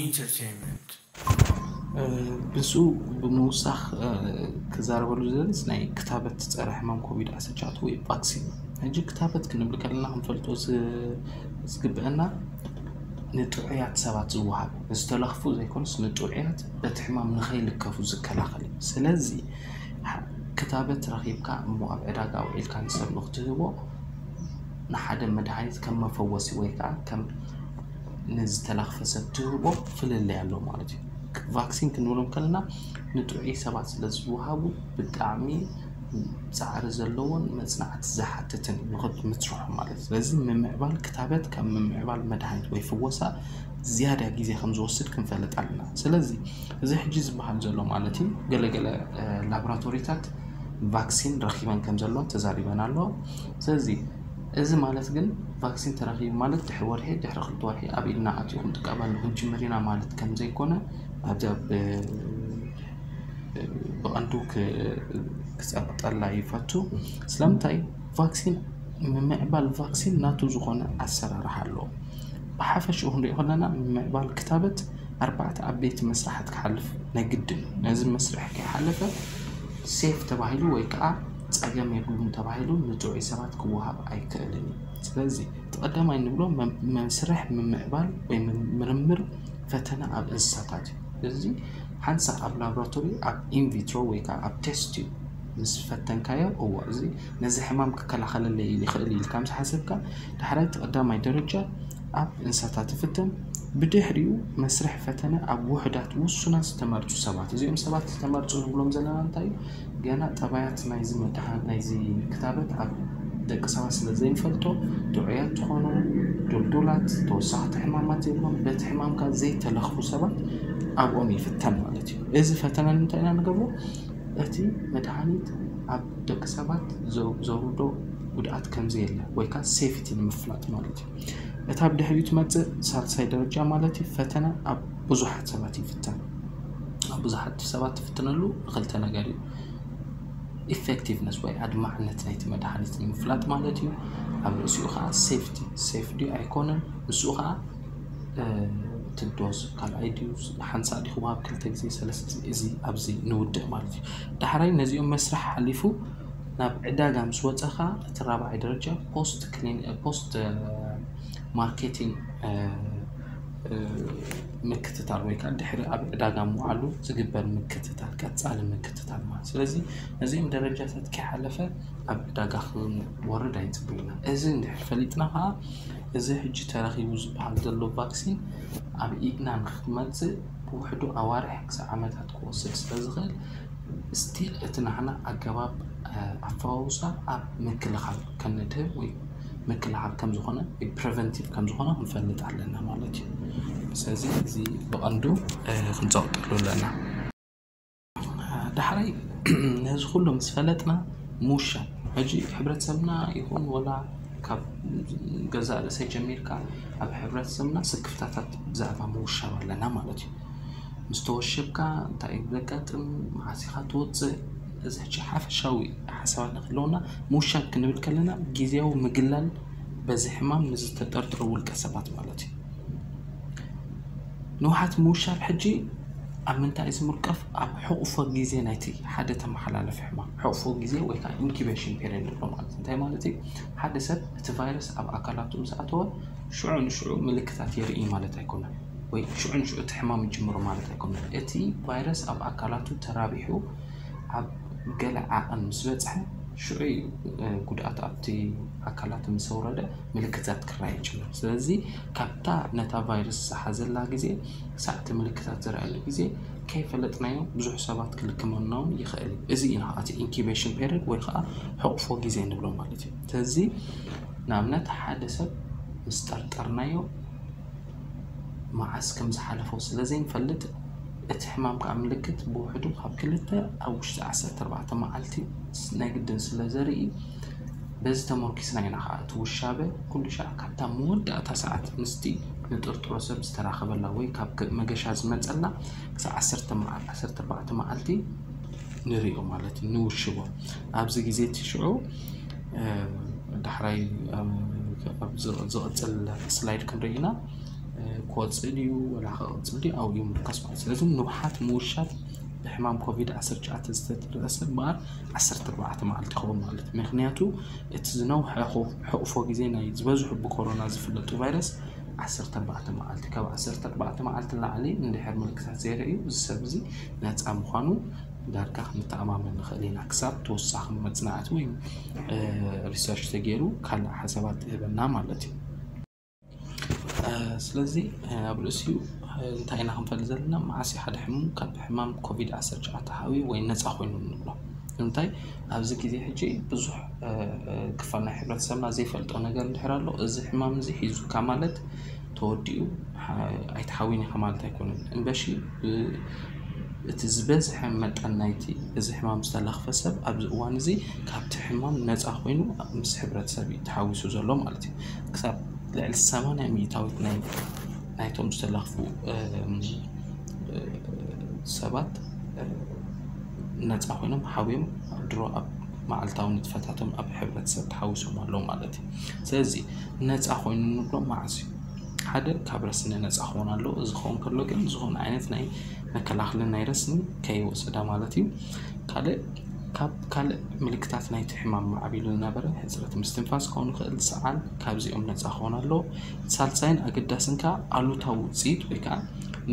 Entertainment. ብሱ ብምውሳኽ ክዛረበሉ ዝደልስ ናይ ክታበት ጸረ ሕማም ኮቪድ ዓሰርተ ትሽዓተ ወይ ቫክሲን። ሕጂ ክታበት ክንብል ከለና ክንፈልጦ ዝግብአና ንጥዑያት ሰባት ዝወሃብ፣ ዝተለኽፉ ዘይኮነስ ንጥዑያት በቲ ሕማም ንኸይልከፉ ዝከላኸል እዩ። ስለዚ ክታበት ረኺብካ እሞ ኣብ ዕዳጋ ውዒልካ ንሰብ ንክትህቦ ንሓደ መድሃኒት ከም መፈወሲ ወይ ከዓ ከም ንዝተለኽፈ ሰብ ትህቦ ፍልልይ ኣሎ ማለት እዩ። ቫክሲን ክንብሎም ከለና ንጥዑይ ሰባት ስለ ዝወሃቡ ብጣዕሚ ፃዕሪ ዘለዎን መፅናዕቲ ዝሓትትን ንክትምስርሑ ማለት እዩ። ስለዚ ምምዕባል ክታበት ካብ ምምዕባል መድሃኒት ወይ ፍወሳ ዝያዳ ግዜ ከም ዝወስድ ክንፈልጥ ኣለና። ስለዚ እዚ ሕጂ ዝበሃል ዘሎ ማለት እዩ ገለገለ ላቦራቶሪታት ቫክሲን ረኪበን ከም ዘሎ ተዛሪበን ኣሎ። ስለዚ እዚ ማለት ግን ቫክሲን ተረኪቡ ማለት ድሕሪ ወርሒ ድሕሪ ክልተ ወርሒ ኣብ ኢድና ኣትዩ ክንጥቀመሉ ክንጅምር ኢና ማለት ከም ዘይኮነ ኣብዚ ኣብ ብቐንዱ ክፀብጠላ ይፈቱ። ስለምንታይ ቫክሲን ምምዕባል ቫክሲን ናቱ ዝኾነ ኣሰራርሓ ኣለዎ። ብሓፈሽኡ ክንሪኦ ከለና ምምዕባል ክታበት ኣርባዕተ ዓበይቲ መስራሓት ክሓልፍ ናይ ግድን እዩ። ነዚ መስርሕ ከይሓለፈ ሴፍ ተባሂሉ ወይ ከዓ ፀገም የብሉን ተባሂሉ ንጥዑይ ሰባት ክወሃብ ኣይክእልን እዩ። ስለዚ እቲ ቀዳማይ ንብሎ መስርሕ ምምዕባል ወይ ምርምር ፈተነ ኣብ እንስሳታት እዩ። እዚ ሓንሳ ኣብ ላቦራቶሪ ኣብ ኢንቪትሮ ወይ ከዓ ኣብ ቴስት እዩ ምስ ፈተንካዮ እዎ እዚ ነዚ ሕማም ክከላኸለለይ ይኽእል ኢልካ ምስ ሓሰብካ ዳሕራይ እቲ ቀዳማይ ደረጃ ኣብ እንስሳታት ይፍተን። ብድሕሪኡ መስርሕ ፈተነ ኣብ ውሑዳት ውሱናት ዝተመርፁ ሰባት። እዚኦም ሰባት ዝተመርፁ ንብሎም ዘለና እንታይ እዩ? ገና ጠባያት ናይዚ መድሃን ናይዚ ክታበት ኣብ ደቂ ሰባት ስለ ዘይንፈልጦ ጥዑያት ዝኾኑ ድልዱላት ተወሳኽቲ ሕማማት የብሎም በቲ ሕማምካ ዘይተለኽፉ ሰባት ኣብኦም ይፍተን ማለት እዩ። እዚ ፈተነ ንምንታይ ኢና ንገብሮ? እቲ መድሃኒት ኣብ ደቂ ሰባት ዘውርዶ ጉድኣት ከምዘየለ ወይ ከዓ ሴፍቲ ንምፍላጥ ማለት እዩ። እታ ብድሕሪኡ ትመፅእ ሳልሳይ ደረጃ ማለት እዩ ፈተነ ኣብ ብዙሓት ሰባት ይፍተን። ኣብ ብዙሓት ሰባት ትፍትነሉ ንክልተ ነገር እዩ። ኢፌክቲቭነስ ወይ ኣድማዕነት ናይቲ መድሃኒት ንምፍላጥ ማለት እዩ። ኣብ ርእሲኡ ከዓ ሴፍቲ ሴፍ ድዩ ኣይኮነን ምስኡ ከዓ ትዶዝ ካልኣይ ድዩ ሓንሳእ ዲኹም ኣብ ክልተ ግዜ ሰለስተ እዚ ኣብዚ ንውድእ ማለት እዩ። ዳሕራይ ነዚኦም መስርሕ ሓሊፉ ናብ ዕዳጋ ምስ ወፀኻ እቲ ራብዓይ ደረጃ ፖስት ክሊን ፖስት ማርኬቲንግ ምክትታል ወይ ከዓ ድሕሪ ኣብ ዕዳጋ ምውዓሉ ዝግበር ምክትታል ቀፃሊ ምክትታል ማለት ስለዚ ነዚኦም ደረጃታት ከይሓለፈ ኣብ ዕዳጋ ክንወርድ ኣይፅቡይና እዚ እንድሕር ፈሊጥና ከዓ እዚ ሕጂ ተረኺቡ ዝበሃል ዘሎ ቫክሲን ኣብ ኢድና ንክመፅእ ብውሕዱ ኣዋርሕ ክሳብ ዓመታት ክወስድ ስለ ዝኽእል ስቲል እቲ ናህና ኣገባብ ኣፈዋውሳ ኣብ ምክልኻል ከነድህብ ወይ ምክልኻል ከም ዝኾነ ወይ ፕሪቨንቲቭ ከም ዝኾነ ክንፈልጥ ኣለና ማለት እዩ። ስለዚ እዚ ብቐንዱ ክንፀቕጠሉ ኣለና። ዳሕራይ ነዚ ኩሉ ምስ ፈለጥና ምውሻብ ሕጂ ሕብረተሰብና ይኹን ወላ ካብ ገዛእ ርእሰይ ጀሚርካ ኣብ ሕብረተሰብና ስክፍታታት ብዛዕባ ምውሻብ ኣለና ማለት እዩ። ምስ ተወሸብካ እንታይ እዩ ዘጋጥም? መዓስ ኢኻ ትወፅእ? እዚ ሕጂ ሓፈሻዊ ሓሳባት ንክህልወና ምውሻብ ክንብል ከለና ግዜያዊ ምግላል በዚ ሕማም ንዝተጠርጠሩ ውልቀ ሰባት ማለት እዩ። ንውሓት ምውሻብ ሕጂ ኣብ ምንታይ እዩ ዝምርቀፍ? ኣብ ሕቑፎ ግዜ ናይቲ ሓደ ተመሓላለፊ ሕማም ሕቑፎ ግዜ ወይ ከዓ ኢንኩቤሽን ፔሪድ ንብሎ ማለት እንታይ ማለት እዩ? ሓደ ሰብ እቲ ቫይረስ ኣብ ኣካላቱ ምስ ኣተወ ሽዑ ንሽዑ ምልክታት የርኢ ማለት ኣይኮነን ወይ ሽዑ ንሽዑ እቲ ሕማም ይጅምሮ ማለት ኣይኮነን። እቲ ቫይረስ ኣብ ኣካላቱ ተራቢሑ ኣብ ገለ ዓቐን ምስ በፅሐ ሽዑ እዩ ጉድኣት ኣብቲ ኣካላት ምስ ኣውረደ ምልክታት ክረኣይ ይጅምር። ስለዚ ካብታ ነታ ቫይረስ ዝሓዘላ ግዜ ክሳዕ እቲ ምልክታት ዝረኣየሉ ግዜ ከይፈለጥናዮ ብዙሕ ሰባት ክልክመና እውን ይኽእል እዩ። እዚ እዩ ከዓ እቲ ኢንኩቤሽን ፔሪድ ወይ ከዓ ሕቑፎ ግዜ ንብሎ ማለት እዩ። ስለዚ ንኣብነት ሓደ ሰብ ምስ ጠርጠርናዮ መዓስ ከም ዝሓለፎ ስለ ዘይንፈልጥ እቲ ሕማም ከዓ ምልክት ብውሕዱ ካብ ክልተ ኣብ ውሽጢ ዓሰርተ ኣርባዕተ መዓልቲ ናይ ግድን ስለ ዘርኢ በዚ ተመርኪስና ኢና ከዓ እቲ ውሻበ ኩሉ ሻዕ ካብታ መወዳእታ ሰዓት ምስቲ ንጥርጥሮ ሰብ ዝተራኸበላ ወይ ካብ መገሻ ዝመፀላ ክሳብ ዓሰርተ ኣርባዕተ መዓልቲ ንሪኦ ማለት እዩ ንውሽቦ ኣብዚ ግዜ እቲ ሽዑ ዳሕራይ ዝቕፅል ስላይድ ክንርኢ ኢና። ክወፅእ ድዩ ወላ ክቕፅል ድዩ ኣብኡ እዩ ምርኮስ ማለት። ስለዚ ንውሓት ምውሻብ ብሕማም ኮቪድ ዓሰርተ ትሽዓተ ዝተጠርጠረ ሰብ እምበኣር ዓሰርተ ኣርባዕተ መዓልቲ ይኸውን ማለት እዩ። ምክንያቱ እቲ ዝነውሐ ሕቑፎ ግዜ ናይ ዝበዝሑ ብኮሮና ዝፍለጡ ቫይረስ ዓሰርተ ኣርባዕተ መዓልቲ፣ ካብ ዓሰርተ ኣርባዕተ መዓልቲ ንላዕሊ እንድሕር ምልክታት ዘይርእዩ እዚ ሰብ እዚ ነፃ ምዃኑ ዳርጋ ክንተኣማመን ንኽእል ኢና፣ ክሳብ ተወሳኺ መፅናዕቲ ወይ ሪሰርች ተገይሩ ካልእ ሓሳባት ይህበና ማለት እዩ። ስለዚ ኣብ ርእሲኡ እንታይ ኢና ክንፈልጥ ዘለና? መዓስ ሓደ ሕሙም ካብ ሕማም ኮቪድ ዓሰርተ ትሽዓተ ሓዊ ወይ ነፃ ኮይኑ ንብሎ? እንታይ ኣብዚ ግዜ ሕጂ ብዙሕ ክፋል ናይ ሕብረተሰብና ዘይፈልጦ ነገር እንድሕር ኣሎ፣ እዚ ሕማም እዚ ሒዙካ ማለት ተወዲኡ ኣይትሓዊን ኢኻ ማለት ኣይኮነን። እምበሺ እቲ ዝበዝሐ መጠን ናይቲ እዚ ሕማም ዝተለኽፈ ሰብ ኣብዚ እዋን እዚ ካብቲ ሕማም ነፃ ኮይኑ ምስ ሕብረተሰብ እዩ ተሓዊሱ ዘሎ ማለት እዩ። ክሳብ ልዕሊ ሰማንያ ሚእታዊት ናይቶም ዝተለኽፉ ሰባት ነፃ ኮይኖም ሓውዮም ድሮ ኣብ መዓልታዊ ንጥፈታቶም ኣብ ሕብረተሰብ ተሓዊሶም ኣለዉ ማለት እዩ። ስለዚ ነፃ ኮይኑ ንብሎ መዓስ እዩ? ሓደ ካብ ረስኒ ነፃ ክኾን ኣለዎ። እዚ ክኸውን ከሎ ግን ዝኾነ ዓይነት ናይ መከላኸሊ ናይ ረስኒ ከይወሰዳ ማለት እዩ። ካልእ ካብ ካልእ ምልክታት ናይቲ ሕማም ማዕቢሉ ዝነበረ ሕፅረት ምስትንፋስ ክኸውን ይኽእል፣ ሰዓል፣ ካብዚኦም ነፃ ክኾን ኣለዎ። ሳልሳይን ኣገዳስን ከዓ ኣሉታዊ ውፅኢት ወይ ከዓ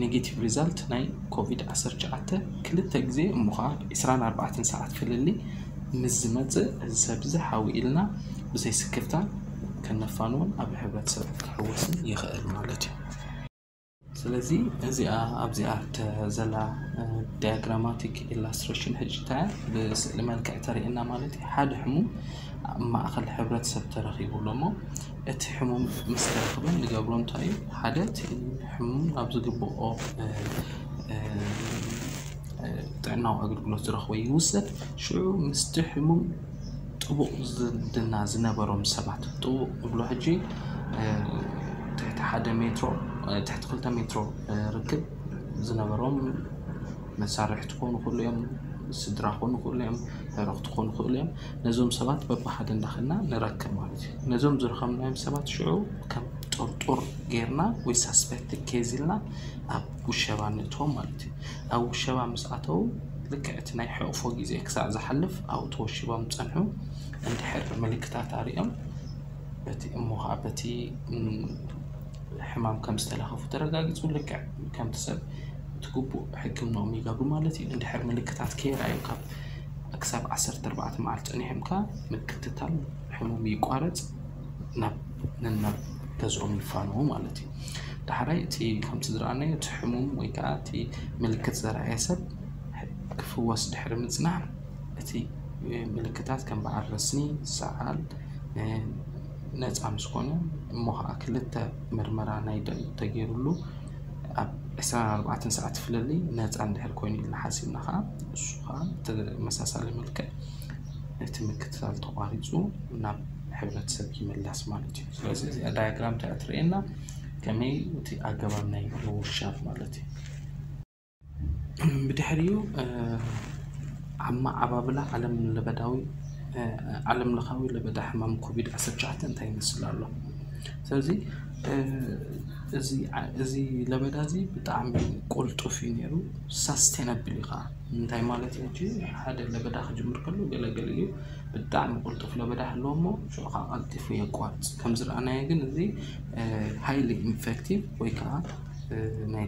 ኔጌቲቭ ሪዛልት ናይ ኮቪድ ዓሰርተ ትሽዓተ ክልተ ግዜ እሞ ከዓ ዕስራን ኣርባዕተን ሰዓት ፍልልይ ምስ ዝመፅእ እዚ ሰብ እዚ ሓዊ ኢልና ብዘይ ስክፍታ ከነፋንዎን ኣብ ሕብረተሰብ ክሕወስን ይኽእል ማለት እዩ። ስለዚ እዚኣ ኣብዚኣ ዘላ ዳያግራማቲክ ኢላስትሬሽን ሕጂ እንታይ ብስእሊ መልክዕ ተርእየና ማለት እዩ። ሓደ ሕሙም ኣብ ማእኸል ሕብረተሰብ ተረኺቡ ኣሎ እሞ እቲ ሕሙም ምስ ተረኽበ ንገብሮ እንታይ እዩ? ሓደ እቲ ሕሙም ናብ ዝግብኦ ጥዕናዊ ኣገልግሎት ዝረኽቦ ይውሰድ። ሽዑ ምስቲ ሕሙም ጥቡቕ ዝምድና ዝነበሮም ሰባት፣ ጥቡቕ ንብሎ ሕጂ ትሕቲ ሓደ ሜትሮ፣ ትሕቲ ክልተ ሜትሮ ርክብ ዝነበሮም መሳርሕቲ ክኾኑ ይኽእሉ እዮም፣ ስድራ ክኾኑ ይኽእሉ እዮም፣ ዕረኽቲ ክኾኑ ይኽእሉ እዮም። ነዞም ሰባት በብሓደ እንዳኸድና ንረክብ ማለት እዩ። ነዞም ዝረኸብናዮም ሰባት ሽዑ ከም ጥርጡር ጌርና ወይ ሳስፔክት ኬዝ ኢልና ኣብ ውሸባ ንእትዎም ማለት እዩ። ኣብ ውሸባ ምስ ኣተዉ ልክዕ እቲ ናይ ሕቕፎ ግዜ ክሳዕ ዝሓልፍ ኣብኡ ተወሺቦም ዝጸንሑ እንድሕር ምልክታት ኣርእዮም በቲ እሞ ከዓ በቲ ሕማም ከም ዝተለኸፉ ተረጋጊፁ ልክዕ ከምቲ ሰብ እቲ ግቡእ ሕክምናኦም ይገብሩ ማለት እዩ። እንድሕር ምልክታት ከይረኣዩ ካብ ክሳብ ዓሰርተ ኣርባዕተ መዓልቲ ፀኒሖም ከዓ ምክትታል ሕሙም ይቋረፅ ናብ ነናብ ገዝኦም ይፋነዉ ማለት እዩ። ዳሕራይ እቲ ከምቲ ዝረኣናዮ እቲ ሕሙም ወይ ከዓ እቲ ምልክት ዘርኣየ ሰብ ክፍወስ ድሕሪ ምፅናሕ እቲ ምልክታት ከም በዓል ረስኒ፣ ሰዓል ነፃ ምስ ኮነ እሞ ከዓ ክልተ ምርመራ ናይ ደም ተገይሩሉ ኣብ ዕስራን ኣርባዕተን ሰዓት ፍልልይ ነፃ እንድሕር ኮይኑ ኢልና ሓሲብና ከዓ እሱ ከዓ ተመሳሳሊ መልክዕ እቲ ምክትታል ተቋሪፁ ናብ ሕብረተሰብ ይምለስ ማለት እዩ። ስለዚ እዚኣ ዳያግራም እንታይ እትርእየና ከመይ እቲ ኣገባብ ናይ ምውሻብ ማለት እዩ። ብድሕሪኡ ኣመዓባብላ ዓለም ለበዳዊ ዓለም ለኻዊ ለበዳ ሕማም ኮቪድ ዓሰርተ ትሽዓተ እንታይ ይመስል ኣሎ? ስለዚ እዚ ለበዳ እዚ ብጣዕሚ ቁልጡፍ እዩ ነይሩ፣ ሳስቴነብል እዩ ከዓ። እንታይ ማለት እዩ? ሓደ ለበዳ ክጅምር ከሎ ገለገለ እዩ ብጣዕሚ ቁልጡፍ ለበዳ ህልዎ እሞ ሽዑ ከዓ ቀልጢፉ የቋርፅ። ከም ዝረኣናዮ ግን እዚ ሃይሊ ኢንፌክቲቭ ወይ ከዓ ናይ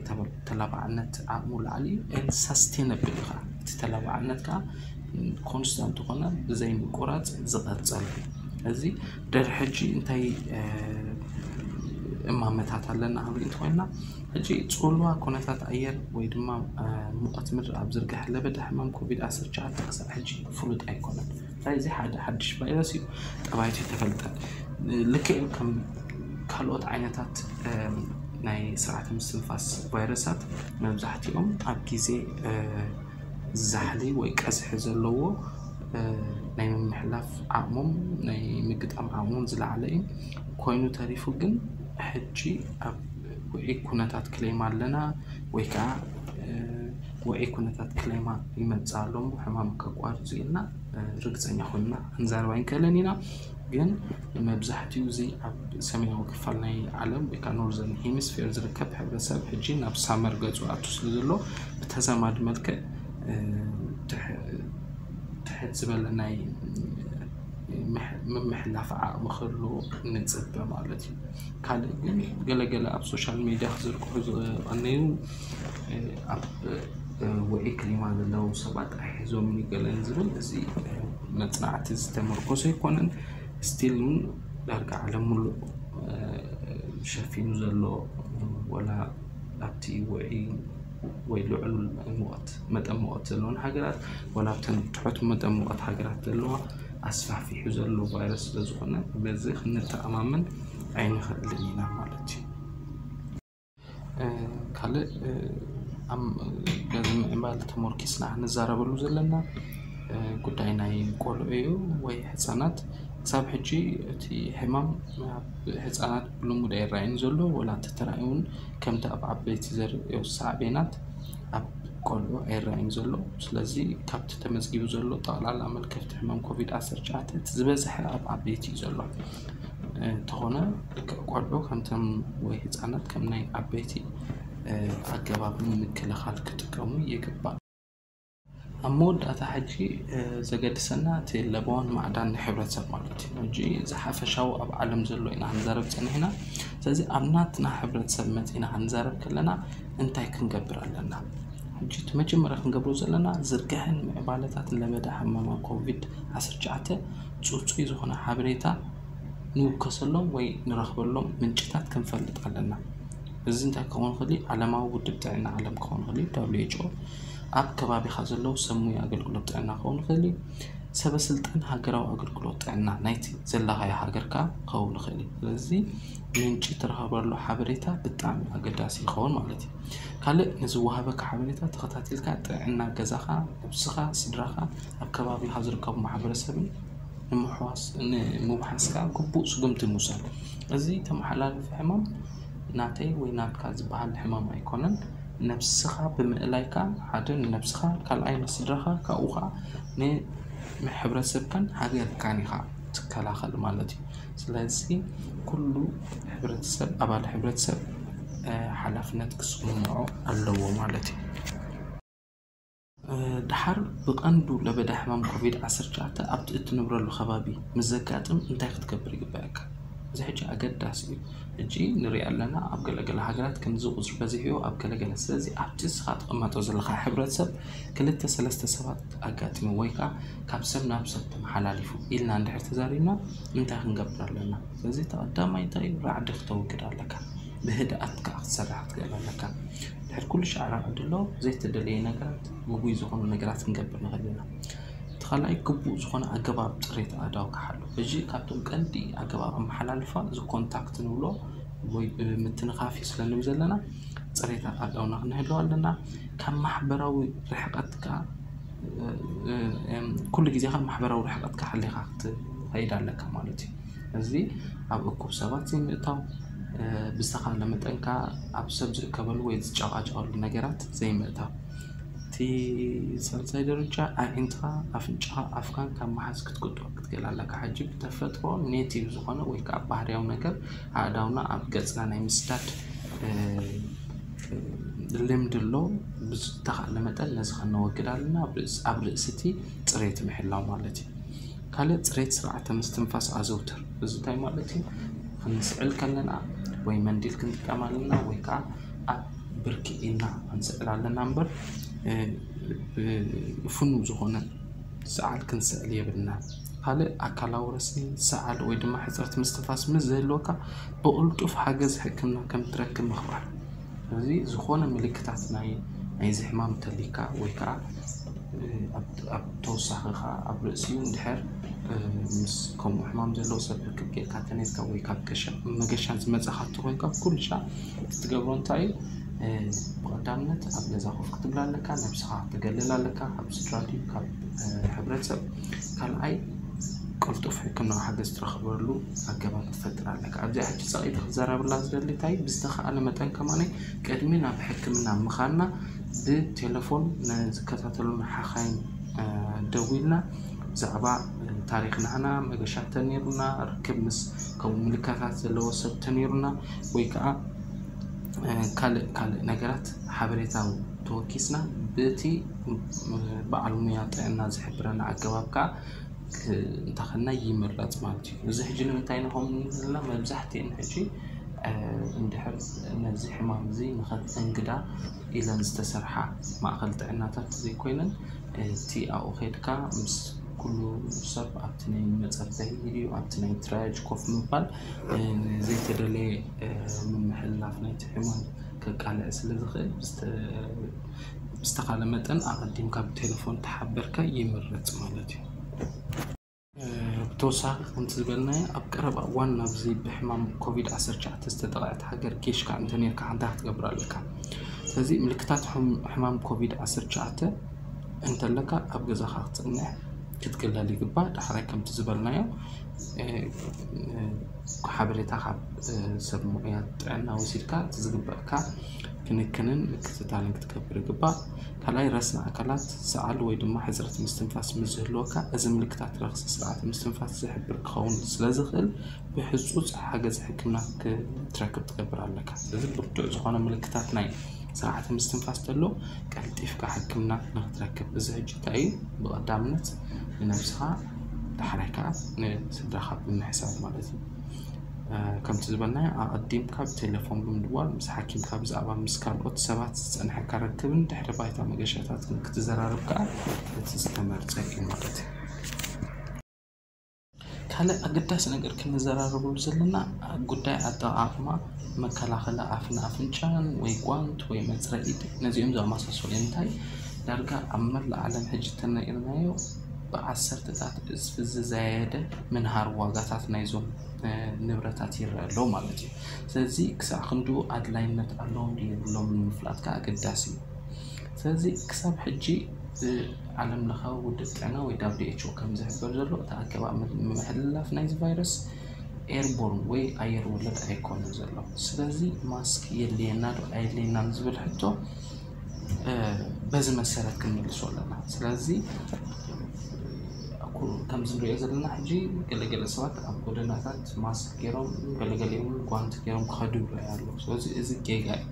ተላባዕነት ዓቕሙ ላዕሊ እዩ። ሳስቴነብል እዩ ከዓ፣ እቲ ተላባዕነት ከዓ ኮንስታንት ዝኾነ ብዘይ ምቁራፅ ዝቐፀል። እዚ ድሕሪ ሕጂ እንታይ እማመታት ኣለና ክንርኢ እንተኮይና፣ ሕጂ ፅልዋ ኩነታት ኣየር ወይ ድማ ሙቐት ምድሪ ኣብ ዝርግሐ ለበዳ ሕማም ኮቪድ ዓሰርተ ትሽዓተ ክሳብ ሕጂ ፍሉጥ ኣይኮነን። እንታይ እዚ ሓደ ሓድሽ ቫይረስ እዩ፣ ጠባይቱ ተፈልጠ። ልክዕ ከም ካልኦት ዓይነታት ናይ ስርዓተ ምስትንፋስ ቫይረሳት መብዛሕትኦም ኣብ ግዜ ዛሕሊ ወይ ቀዝሒ ዘለዎ ናይ ምምሕላፍ ዓቕሞም ናይ ምግጣም ዓቕሞም ዝለዓለ እዩ። ኮይኑ ተሪፉ ግን ሕጂ ኣብ ውዒ ኩነታት ክሌማ ኣለና ወይ ከዓ ውዒ ኩነታት ክሌማ ይመፅእ ኣሎ እሞ ሕማም ከቋርፁ ኢልና ርግፀኛ ኮይንና ክንዛረብ ኣይንክእልን ኢና። ግን መብዛሕትኡ እዚ ኣብ ሰሜናዊ ክፋል ናይ ዓለም ወይ ከዓ ኖርዘርን ሄሚስፌር ዝርከብ ሕብረተሰብ ሕጂ ናብ ሳመር ገፁ ኣቱ ስለ ዘሎ፣ ብተዛማዲ መልክዕ ትሕት ዝበለ ናይ ምምሕላፍ ዓቕሚ ክህልዎ ንፅበ ማለት እዩ። ካልእ ግን ገለገለ ኣብ ሶሻል ሚድያ ክዝርግሑ ዝቐነዩ ኣብ ውዒ ክሊማ ዘለዉ ሰባት ኣይሕዞምን እዩ ገለን ዝብል፣ እዚ መፅናዕቲ ዝተመርኮሰ ኣይኮነን። ስቲል እውን ዳርጋ ዓለም ሙሉእ ሸፊኑ ዘሎ፣ ወላ ኣብቲ ውዒ ወይ ልዑል ሙቐት፣ መጠን ሙቐት ዘለዎን ሃገራት፣ ወላ ኣብተን ትሑት መጠን ሙቐት ሃገራት ዘለዋ ኣስፋፊሑ ዘሎ ቫይረስ ስለ ዝኾነ፣ በዚ ክንተኣማመን ኣይንኽእልን ኢና ማለት እዩ። ካልእ በዚ ምዕባለ ተመርኪስና ክንዛረበሉ ዘለና ጉዳይ ናይ ቆልዑ እዩ ወይ ህፃናት። ክሳብ ሕጂ እቲ ሕማም ኣብ ህፃናት ብልሙድ ኣይረኣይን ዘሎ፣ ወላ እንተተራእዩ እውን ከምቲ ኣብ ዓበይቲ ዘርእዮ ሳዕቤናት ኣብ ቆልዑ ኣይረኣይን ዘሎ። ስለዚ ካብቲ ተመዝጊቡ ዘሎ ጠቕላላ መልከፍቲ ሕማም ኮቪድ ዓሰርተ ትሽዓተ እቲ ዝበዝሐ ኣብ ዓበይቲ እዩ ዘሎ። እንተኾነ ቆልዑ ከምቶም ወይ ህፃናት ከም ናይ ዓበይቲ ኣገባብ ንምክልኻል ክጥቀሙ ይግባእ። ኣብ መወዳእታ ሕጂ ዘገድሰና እቲ ለበዋን ማዕዳን ናይ ሕብረተሰብ ማለት እዩ። ሕጂ እዚ ሓፈሻዊ ኣብ ዓለም ዘሎ ኢና ክንዛረብ ፀኒሕና። ስለዚ ኣብ ናትና ሕብረተሰብ መፂና ክንዛረብ ከለና እንታይ ክንገብር ኣለና? ሕጂ እቲ መጀመርያ ክንገብሮ ዘለና ዝርግሐን ምዕባለታትን ለበዳ ሕማማ ኮቪድ ዓሰርተ ትሽዓተ ፅፁይ ዝኾነ ሓበሬታ ንውከሰሎም ወይ ንረኽበሎም ምንጭታት ክንፈልጥ ኣለና። እዚ እንታይ ክኸውን ይኽእል? ዓለማዊ ውድብ ጥዕና ዓለም ክኸውን ይኽእል፣ ደብሊው ኤች ኦ፣ ኣብ ከባቢኻ ዘለዉ ሰብ ሞያ ኣገልግሎት ጥዕና ክኸውን ይኽእል፣ ሰበ ስልጣን ሃገራዊ ኣገልግሎት ጥዕና ናይቲ ዘለኻዮ ሃገር ከኣ ክኸውን ይኽእል። ስለዚ ምንጪ ትረኽበሉ ሓበሬታ ብጣዕሚ ኣገዳሲ ይኸውን ማለት እዩ። ካልእ ንዝወሃበካ ሓበሬታ ተኸታቲልካ ጥዕና ገዛኻ፣ ነብስኻ፣ ስድራኻ፣ ኣብ ከባቢኻ ዝርከቡ ማሕበረሰብን ንምውሓስ ንምውሓስካ ግቡእ ስጉምቲ ምውሳድ። እዚ ተመሓላልፊ ሕማም ናተይ ወይ ናትካ ዝበሃል ሕማም ኣይኮነን። ነብስኻ ብምእላይካ ሓደ ንነብስኻ፣ ካልኣይ ንስድራኻ፣ ካብኡ ኸዓ ንሕብረተሰብካን ሃገርካን ኢኻ ትከላኸል ማለት እዩ። ስለዚ ኩሉ ሕብረተሰብ ኣባል ሕብረተሰብ ሓላፍነት ክስምዖ ኣለዎ ማለት እዩ። ደሓር ብቐንዱ ለበዳ ሕማም ኮቪድ ዓሰርተ ትሽዓተ ኣብቲ እትነብረሉ ከባቢ ምስ ዘጋጥም እንታይ ክትገብር ይግበኣካ? እዚ ሕጂ ኣገዳሲ እዩ። ሕጂ ንሪኦ ኣለና ኣብ ገለገለ ሃገራት ከምዚ ቁፅሪ በዚሕዮ ኣብ ገለገለ። ስለዚ ኣብቲ እስኻ ትቕመጦ ዘለኻ ሕብረተሰብ ክልተ ሰለስተ ሰባት ኣጋጢሙ ወይ ከዓ ካብ ሰብ ናብ ሰብ ተመሓላሊፉ ኢልና እንድሕር ተዛሪብና እንታይ ክንገብር ኣለና? ስለዚ ተቐዳማይ እንታይ እዩ? ራዕዲ ክተውግድ ኣለካ። ብህድኣት ከዓ ክትሰርሕ ክትክእል ኣለካ። ድሕሪ ኩሉ ሻዕ ራዕዲ ኣሎ፣ ዘይተደለየ ነገራት፣ ግጉይ ዝኾኑ ነገራት ክንገብር ንኽእል ኢና። እቲ ካልኣይ ግቡእ ዝኾነ ኣገባብ ፅሬት ኣእዳው ክሓሉ። ሕጂ ካብቶም ቀንዲ ኣገባብ ኣመሓላልፋ እዚ ኮንታክት ንብሎ ወይ ብምትንኻፍ እዩ ስለ ንብል ዘለና ፅሬት ኣእዳውና ክንህልው ኣለና። ካብ ማሕበራዊ ርሕቀት ከዓ ኩሉ ግዜ ካብ ማሕበራዊ ርሕቀትካ ሓሊኻ ክትኸይድ ኣለካ ማለት እዩ። እዚ ኣብ እኩብ ሰባት ዘይምእታው፣ ብዝተኻለ መጠንካ ኣብ ሰብ ዝእከበሉ ወይ ዝጨቃጨቀሉ ነገራት ዘይምእታው። እቲ ሳልሳይ ደረጃ ኣዒንትኻ፣ ኣፍንጫኻ፣ ኣፍካን ካብ መሓዝ ክትቁጠብ ክትክእል ኣለካ። ሕጂ ብተፈጥሮ ኔቲቭ ዝኾነ ወይ ከዓ ባህርያዊ ነገር ኣእዳውና ኣብ ገፅና ናይ ምስዳድ ልምዲ ኣሎ። ብዝተኻእለ መጠን ነዚ ከነወግድ ኣለና። ኣብ ርእሲ እቲ ፅሬት ምሕላው ማለት እዩ። ካልእ ፅሬት ስርዓተ ምስትንፋስ ኣዘውትር። እዚ እንታይ ማለት እዩ? ክንስዕል ከለና ወይ መንዲል ክንጥቀም ኣለና ወይ ከዓ ኣብ ብርኪ ኢልና ክንስዕል ኣለና እምበር ብፍኑ ዝኾነ ሰዓል ክንስዕል የብልና። ካልእ ኣካላዊ ረስኒ፣ ሰዓል ወይ ድማ ሕፅረት ምስትንፋስ ምስ ዝህልወካ ብቕልጡፍ ሓገዝ ሕክምና ከም ትረክብ ምኽባር። እዚ ዝኾነ ምልክታት ናይ ናይዚ ሕማም እንተሊካ ወይ ከዓ ኣብ ተወሳኺ ከዓ ኣብ ርእሲኡ እንድሕር ምስ ከምኡ ሕማም ዘለዎ ሰብ ርክብ ጌርካ ተነይርካ ወይ ካብ ገሻ መገሻ ዝመፀኻ እንተኮይንካ ብኩሉ ሻዕ እቲ ትገብሮ እንታይ እዩ? ብቐዳምነት ኣብ ገዛ ኮፍ ክትብል ኣለካ፣ ነብስኻ ክትገልል ኣለካ፣ ካብ ስድራ ድዩ ካብ ሕብረተሰብ። ካልኣይ ቅልጡፍ ሕክምናዊ ሓገዝ ትረኽበሉ ኣገባብ ትፈጥር ኣለካ። ኣብዚኣ ሕጂ ፀቒጢ ክዘረብላ ዝደሊ እንታይ ብዝተኻእለ መጠን ከማነይ ቅድሚ ናብ ሕክምና ምኻድና ብቴሌፎን ንዝከታተሉና ሓኻይም ደዊልና ብዛዕባ ታሪኽ ናህና መገሻ ተነይሩና፣ ርክብ ምስ ከምኡ ምልክታት ዘለዎ ሰብ ተነይሩና፣ ወይ ከዓ ካልእ ካልእ ነገራት ሓበሬታ ተወኪስና ብቲ በዓል ሙያ ጥዕና ዝሕብረና ኣገባብ ከዓ እንተኸና ይምረፅ ማለት እዩ። እዚ ሕጂ ንምንታይ ንኸም ዘለና መብዛሕትኤን ሕጂ እንድሕር ነዚ ሕማም እዚ ንኸተንግዳ ኢለን ዝተሰርሓ ማእኸል ጥዕናታት ዘይኮይነን እቲ ኣብኡ ከድካ ምስ ኩሉ ሰብ ኣብቲ ናይ መፀበይ ድዩ ኣብቲ ናይ ትራያጅ ኮፍ ምባል ዘይተደለየ ምምሕልላፍ ናይቲ ሕማም ከቃልዕ ስለ ዝኽእል ብዝተኻለ መጠን ኣቐዲምካ ብቴሌፎን ተሓበርካ ይምረፅ ማለት እዩ። ብተወሳኺ ከምቲ ዝበልናዮ ኣብ ቀረባ እዋን ናብዚ ብሕማም ኮቪድ ዓሰርተ ትሽዓተ ዝተጠቕዐት ሃገር ጌሽካ እንተኔርካ ሓንታ ክትገብር ኣለካ። ስለዚ ምልክታት ሕማም ኮቪድ ዓሰርተ ትሽዓተ እንተለካ ኣብ ገዛኻ ክትፅንሕ ክትግለል ይግባእ። ዳሕራይ ከምቲ ዝበልናዮ ሓበሬታ ካብ ሰብ ሙያ ጥዕና ወሲድካ እቲ ዝግበእካ ክንክንን ምክትታልን ክትገብር ይግባእ። ካልኣይ ረስኒ ኣካላት ሰዓል ወይ ድማ ሕፅረት ምስትንፋስ ምስ ዝህልወካ እዚ ምልክታት ረኽሲ ስርዓተ ምስትንፋስ ዝሕብር ክኸውን ስለ ዝኽእል ብሕፁፅ ሓገዝ ሕክምና ክትረክብ ትገብር ኣለካ። ስለዚ ብርቱዕ ዝኾነ ምልክታት ናይ ስርዓተ ምስትንፋስ ተሎ ቀልጢፍካ ሕክምና ንክትረክብ እዚ ሕጂ እንታይ እዩ ብቐዳምነት ንነብስኻ ዳሕራይ ከዓ ንስድራኻ ብምሕሳብ ማለት እዩ። ከምቲ ዝበልናዮ ኣቐዲምካ ብቴሌፎን ብምድዋል ምስ ሓኪምካ ብዛዕባ ምስ ካልኦት ሰባት ዝፀንሐካ ርክብን ድሕሪ ባይታ መገሻታትን ክትዘራረብ ከዓ እቲ ዝተመርፀ እዩ ማለት እዩ። ካልእ ኣገዳሲ ነገር ክንዘራረበሉ ዘለና ጉዳይ ኣጠቓቕማ መከላኸሊ ኣፍን ኣፍንጫን ወይ ጓንት ወይ መፅረዪ ኢድ ነዚኦም ዘመሳሰሉ እዮም። እንታይ ዳርጋ ኣብ መላእ ዓለም ሕጂ ተነኢርናዮ ብዓሰርተታት እፅፊ ዝዛየደ ምንሃር ዋጋታት ናይዞም ንብረታት ይረአ ኣሎ ማለት እዩ። ስለዚ ክሳዕ ክንድኡ ኣድላይነት ኣለዎም ድዩ የብሎምን ምፍላጥ ከዓ ኣገዳሲ እዩ። ስለዚ ክሳብ ሕጂ ዓለም ለኻዊ ውድብ ጥዕና ወይ ዳብሊው ኤች ኦ ከም ዝሕበር ዘሎ እቲ ኣገባብ ምምሕልላፍ ናይዚ ቫይረስ ኤርቦርን ወይ ኣየር ወለድ ኣይኮነን ዘሎ። ስለዚ ማስክ የድልየና ዶ ኣየድልየናን ዝብል ሕቶ በዚ መሰረት ክንምልሶ ኣለና። ስለዚ ከምዚ ንሪኦ ዘለና ሕጂ ገለገለ ሰባት ኣብ ጎደናታት ማስክ ገይሮም ገለገሊኦም ጓንቲ ገይሮም ክኸዱ ይረኣዩ ኣለዉ። ስለዚ እዚ ጌጋ እዩ።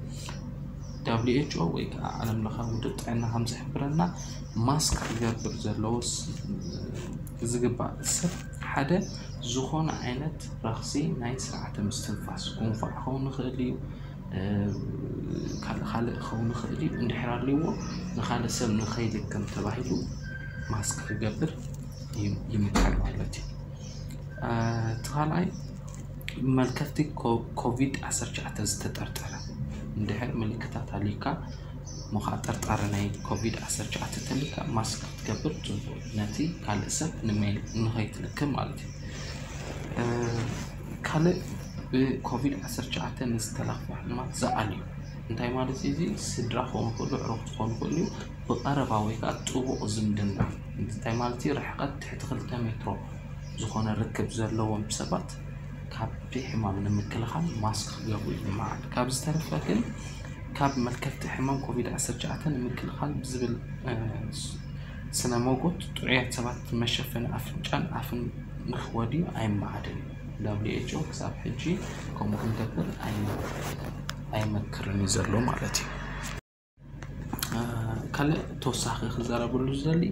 ዳብሊው ኤች ኦ ወይ ከዓ ዓለም ለኻዊ ውድብ ጥዕና ከም ዝሕብረና ማስክ ክገብር ዘለዎ ዝግባእ ሰብ ሓደ ዝኾነ ዓይነት ረኽሲ ናይ ስርዓተ ምስትንፋስ ጉንፋዕ ክኸውን ይኽእል እዩ፣ ካልእ ካልእ ክኸውን ይኽእል እዩ። እንድሕር ኣልዎ ንኻልእ ሰብ ንኸይልክም ተባሂሉ ማስክ ክገብር ይምከር ማለት እዩ። እቲ ካልኣይ መልከፍቲ ኮቪድ ዓሰርተ ትሽዓተ ዝተጠርጠረ እንድሕር ምልክታት ኣልዩካ እሞ ከዓ ጠርጣሪ ናይ ኮቪድ ዓሰርተ ትሽዓተ ተልካ ማስክ ክትገብር ፅቡቅ ነቲ ካልእ ሰብ ንኸይትልክም ማለት እዩ። ካልእ ብኮቪድ ዓሰርተ ትሽዓተ ንዝተላኽፉ ሕማማት ዝኣልዩ እንታይ ማለት እዩ? እዚ ስድራ ክኾኑ ክእሉ ዕሩኽቲ ክኾኑ ክእሉ እዩ። ብቐረባ ወይ ከዓ ጥቡቕ ዝምድና እንታይ ማለት እዩ? ርሕቀት ትሕቲ ክልተ ሜትሮ ዝኾነ ርክብ ዘለዎም ሰባት ካብቲ ሕማም ንምክልኻል ማስክ ክገብሩ ይምዓድ። ካብ ዝተረፈ ግን ካብ መልከፍቲ ሕማም ኮቪድ ዓሰርተ ትሽዓተ ንምክልኻል ብዝብል ስነ ሞጎት ጥዑያት ሰባት መሸፈኒ ኣፍንጫን ኣፍን ንክወድዩ ኣይመዓድን እዩ። ዳብሊው ኤች ኦ ክሳብ ሕጂ ከምኡ ክንገብር ኣይመክርን እዩ ዘሎ ማለት እዩ። ካልእ ተወሳኺ ክዛረበሉ ዝደሊ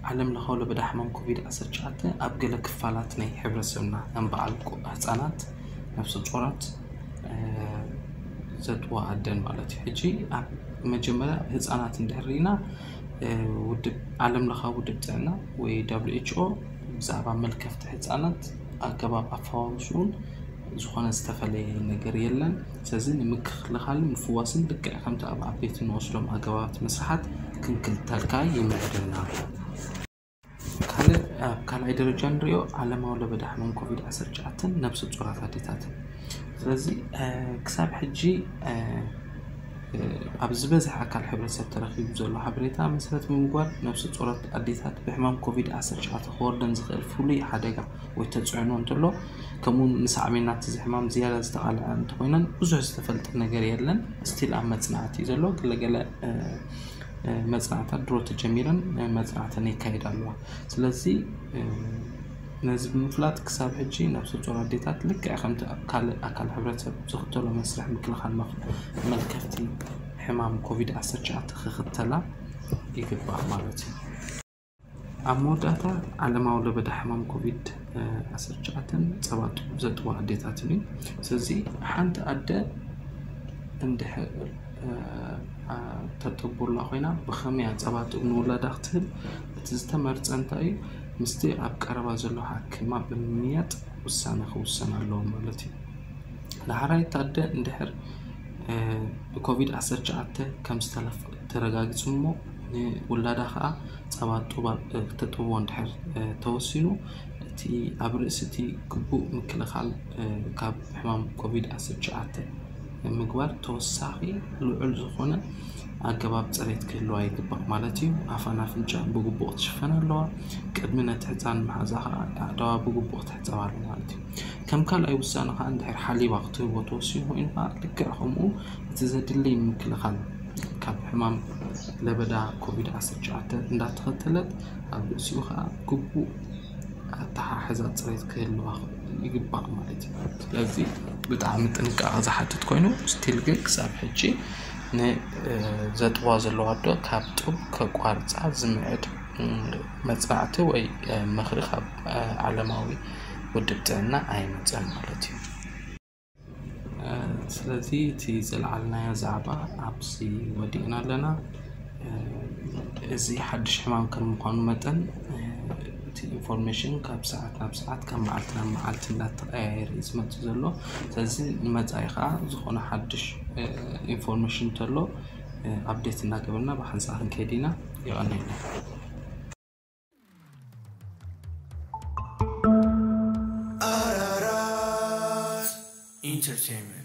ዓለም ለኻዊ ለበዳ ሕማም ኮቪድ ዓሰርተ ትሽዓተ ኣብ ገለ ክፋላት ናይ ሕብረተሰብና ከም በዓል ህፃናት፣ ነፍሰ ጡራት፣ ዘጥዋ ኣደን ማለት እዩ። ሕጂ ኣብ መጀመርያ ህፃናት እንድሕር ርኢና ውድብ ዓለም ለኻዊ ውድብ ጥዕና ወይ ዳብሊው ኤች ኦ ብዛዕባ መልከፍቲ ህፃናት ኣገባብ ኣፈዋውስኡን ዝኾነ ዝተፈለየ ነገር የለን። ስለዚ ንምክልኻልን ምፍዋስን ልክዕ ከምቲ ኣብ ዓበይቲ እንወስዶም ኣገባባት መስርሓት ክንክልተልካ ይምዕድና። ካልእ ኣብ ካልኣይ ደረጃ ንሪኦ ዓለማዊ ለበዳ ሕማም ኮቪድ ዓሰርተ ትሽዓተ ነብሰ ጡራት ኣዴታትን። ስለዚ ክሳብ ሕጂ ኣብ ዝበዝሕ ኣካል ሕብረተሰብ ተረኺቡ ዘሎ ሓበሬታ መሰረት ብምግባር ነብሰ ጡራት ኣዴታት ብሕማም ኮቪድ ዓሰርተ ትሽዓተ ክወርደን ዝኽእል ፍሉይ ሓደጋ ወይ ተፅዕኖ እንተሎ ከምኡ ንሳዕቤናት እዚ ሕማም ዝያዳ ዝተቓልዐ እንተኮይነን ብዙሕ ዝተፈልጠ ነገር የለን። ስቲል ኣብ መፅናዕቲ እዩ ዘሎ። ገለገለ መፅናዕታት ድሮ ተጀሚረን መፅናዕተን ይካየዳ ኣለዋ። ስለዚ ነዚ ብምፍላጥ ክሳብ ሕጂ ነብሰ ፁር ኣዴታት ልክዕ ከምቲ ኣብ ካልእ ኣካል ሕብረተሰብ ዝኽተሎ መስርሕ ምክልኻል መልከፍቲ ሕማም ኮቪድ ዓሰርተ ትሽዓተ ክኽተላ ይግባእ ማለት እዩ። ኣብ መወዳእታ ዓለማዊ ለበዳ ሕማም ኮቪድ ዓሰርተ ትሽዓተ ጸባ ጡብ ዘጥቡ ኣዴታትን እዩ። ስለዚ ሓንቲ ኣደ እንድሕር ተጠቡላ ኮይና ብኸመይ ጸባ ጡብ ንውላዳ ክትህብ እቲ ዝተመርጸ እንታይ እዩ? ምስቲ ኣብ ቀረባ ዘሎ ሓኪማ ብምምያጥ ውሳነ ክውሰን ኣለዎ ማለት እዩ። ዳሕራይ ኣደ እንድሕር ብኮቪድ ዓሰርተ ትሽዓተ ከም ዝተረጋግጹ እሞ ንውላዳ ከዓ ጸባ ጡባ ክተጥብዎ እንድሕር ተወሲኑ እቲ ኣብ ርእሲ እቲ ግቡእ ምክልኻል ካብ ሕማም ኮቪድ ዓሰርተ ትሽዓተ ምግባር ተወሳኺ ልዑል ዝኾነ ኣገባብ ፅሬት ክህልዋ ይግባእ ማለት እዩ። ኣፋን ኣፍንጫ ብግቡእ ክትሽፈን ኣለዋ። ቅድሚ ነቲ ህፃን ምሓዛ ከዓ ኣእዳዋ ብግቡእ ክትሕፀብ ኣለዋ ማለት እዩ። ከም ካልኣይ ውሳነ ከዓ እንድሕር ሓሊባ ክትህቦ ተወሲኑ ኮይኑ ከዓ ልክዕ ከምኡ እቲ ዘድሊ ምክልኻል ካብ ሕማም ለበዳ ኮቪድ ዓሰርተ ትሽዓተ እንዳተኸተለት ኣብ ርእሲኡ ከዓ ግቡእ ኣተሓሕዛ ፅሬት ክህልዋ ይግባእ ማለት እዩ። ስለዚ ብጣዕሚ ጥንቃቐ ዝሓትት ኮይኑ ስቲል ግን ክሳብ ሕጂ ንዘጥዋ ዘለዋ ኣዶ ካብ ጡብ ከቋርፃ ዝምዕድ መፅናዕቲ ወይ ምኽሪ ካብ ዓለማዊ ውድብ ጥዕና ኣይመፀን ማለት እዩ። ስለዚ እቲ ዘልዓልናዮ ዛዕባ ኣብዚ ወዲእና ኣለና። እዚ ሓድሽ ሕማም ከም ምዃኑ መጠን እቲ ኢንፎርሜሽን ካብ ሰዓት ናብ ሰዓት ካብ መዓልቲ ናብ መዓልቲ እንዳተቀያየረ እዩ ዝመፅእ ዘሎ። ስለዚ ንመፃኢ ከዓ ዝኾነ ሓድሽ ኢንፎርሜሽን እንተሎ ኣፕዴት እናገበርና ብሓንሳእ ክንከይድ ኢና። የቐነልና። Entertainment.